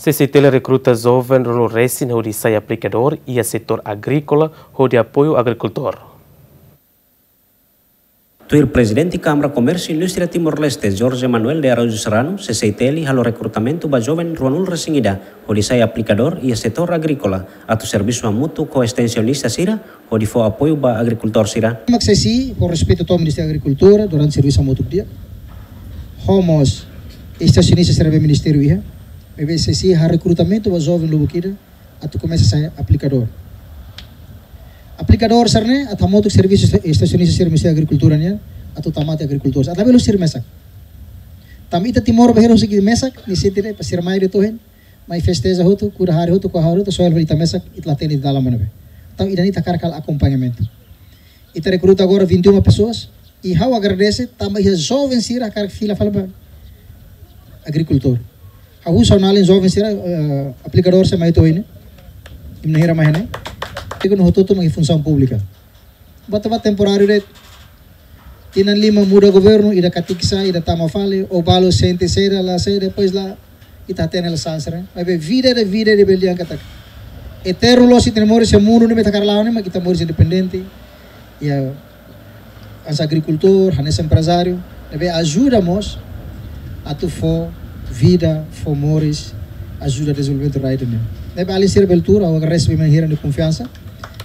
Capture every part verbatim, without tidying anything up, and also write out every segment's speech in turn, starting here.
C C I T L rekruta joven ruanulu resin hodi sai aplikadór iha setór agríkola hodi apoiu agrikultór. Tuir Prezidente Kámara Komérsiu Indústria Timor-Leste, Jorge Manuel de Araújo Serrano, C C I T L halo rekrutamentu ba joven ruanulu resin ida hodi sai aplikadór iha setór agríkola, atu servisu hamutuk ho estensionista sira hodi fó apoiu ba agrikultór sira. Mak C C I, ho respeitu to'o Ministériu Agrikultura, durante servisu hamutuk di'ak. Ho mós estensionista sira be ministériu iha. Maibé C C I halo rekrutamentu ba joven lubuk ida atu komesa sai aplikadór. Aplikadór sira-ne'e atu hamutuk servisu estensionista sira Ministériu Agrikultura nian, atu tama tiha agrikultór. Atu labele husi sira mesak. Tanba ita Timor bainhira husi ita mesak, nia sente de'it para sira mai de'it ohin, mai festeja hotu, kuda hare hotu, kuda hare hotu, soal ita mesak, ita la hatene ita-nia dalan mana be. Entaun ida-ne'e ita hakarak halo akompañamentu. Ita rekruta agora vinte e uma pessoas, i ha'u agradese, tanba iha joven sira hakarak fila fali ba agrikultór. Ha'u husu ha'u-nia alin joven sira, eh, aplikadór sira mai to'o ohin ne'e. Imi na'in hira mai ne'e. Ita hotu-hotu mak iha funsaun públika. Buat ne'ebé temporáriu de'it. Tinan lima muda governu, ida katik sa'e, ida tama fali, ou balu sente saida, la saida, depois la, ita hatene la sansre. Maibé vida de vida de belian katak. Eternu loos ita-nia moris iha mundu ne'ebé ita hakarak la'o ne'e, mak ita moris independente. Iha hanesan agrikultór, hanesan emprezáriu, ne'ebé ajuda mós atu fó vida, fó moris, ajuda dezenvolvimentu rai ida-ne'e. Ne'ebé alin sira bele tuur, ha'u agradese ba imi na'in hira nia konfiansa.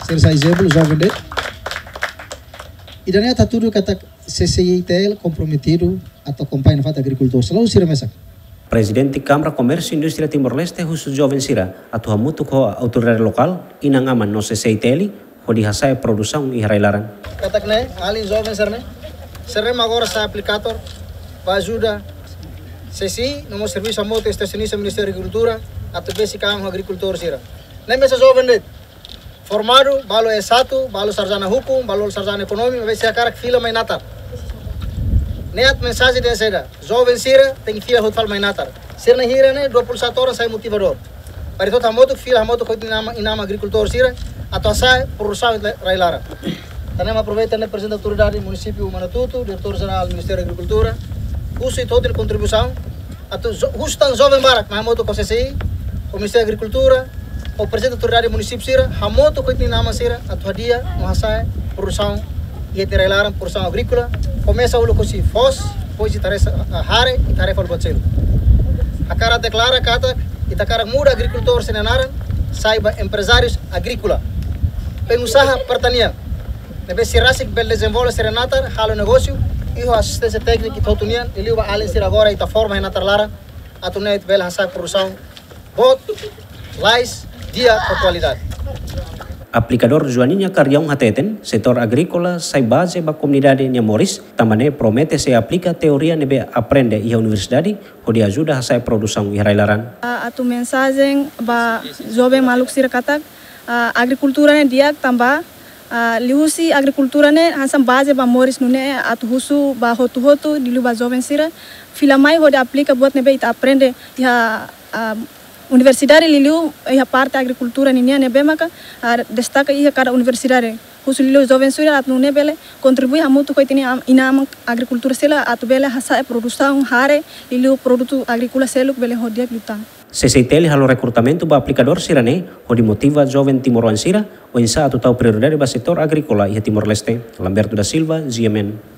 Sira sai ezemplu, joven de'it. Ida-ne'e atu hatudu katak C C I T L komprometidu atu akompaña nafatin agrikultór. Selalu sira mesak. Prezidente Kámara Komérsiu Indústria Timor-Leste husu joven sira atu hamutuk ho autoridade lokál, inan-aman no C C I T L, hodi hasa'e produsaun iha rai-laran. Katak ne'e, alin joven sira-ne'e, sira-ne'e mak agora sai aplikadór, ba ajuda C C I, no mós servisu hamutuk estensionista Ministériu Agrikultura, atu besik an ho agrikultór sira. Ne'e mesak joven de'it. Formadu, balu S satu, balu sarjana hukum, balu sarjana ekonomia, maibé sira hakarak fila mai natar. Ne'e atu mensajen dehan saida, joven sira tenke fila hotu fali mai natar. Sira na'in hira ne'e, dua puluh satu orang sai motivadór. Para ita hotu hamutuk fila hamutuk ho ita-nia inan-aman, inan-aman agrikultór sira, atu hasa'e produsaun iha rai-laran. Tan ne'e mak aproveita ne'e prezidente autoridade munisípiu Manatuto, diretór jerál Ministériu Agrikultura, husu ita hotu nia kontribuisaun, atu jo-, husu tan joven barak, mai hamutuk ho C C I, ho Ministériu Agrikultura, ho prezidente autoridade munisípiu sira, hamutuk ho ita-nia inan-aman sira, atu hadi'a, no hasa'e, produsaun, iha ita-nia rai-laran, produsaun agríkola, komesa uluk husi foos, depois ita haree sa-, ah, hare, ita haree fali buat seluk. Hakarak deklara katak, ita hakarak muda agrikultór sira-nia naran, sai ba emprezárius agríkola. Pengusaha pertanian. Ne'ebé sira rasik bele dezenvolve sira-nia natar, halo negósiu, i ho asisténsia téknika ita hotu nian, liuliu ba alin sira agora ita forma iha natar laran, atu nune'e ita bele hasa'e produsaun boot, lalais, di'ak ho kualidade. Aplikadór Joaninha Carrião hateten, setór agríkola sai baze ba komunidade nia moris, tanba ne'e promete sei aplika teoria ne'ebé aprende iha universidade, hodi ajuda hasa'e produsaun iha rai-laran. Ah, atu mensajen ba joven maluk sira katak, ah, agrikultura ne'e di'ak tanba, ah, liuhusi agrikultura ne'e hanesan baze ba moris nune'e atu husu ba hotu-hotu liuliu ba joven sira fila mai hodi aplika buat ne'ebé ita aprende iha, ah, universidade liuliu iha parte agrikultura ninian ne'ebé maka, ah, destaka iha kada universidade. Husu liuliu joven sira atu nune'e bele kontribui hamutuk ho ita-nia am-, inan-aman agrikultór sira atu bele hasa'e produsaun hare liuliu produtu agríkola seluk bele ho di'ak liután. C C I T L halo rekrutamentu ba aplikadór sira-ne'e hodi motiva joven timoroan sira oinsá atu tau prioridade ba setór agríkola iha Timor-Leste. Lamberto da Silva, G M N.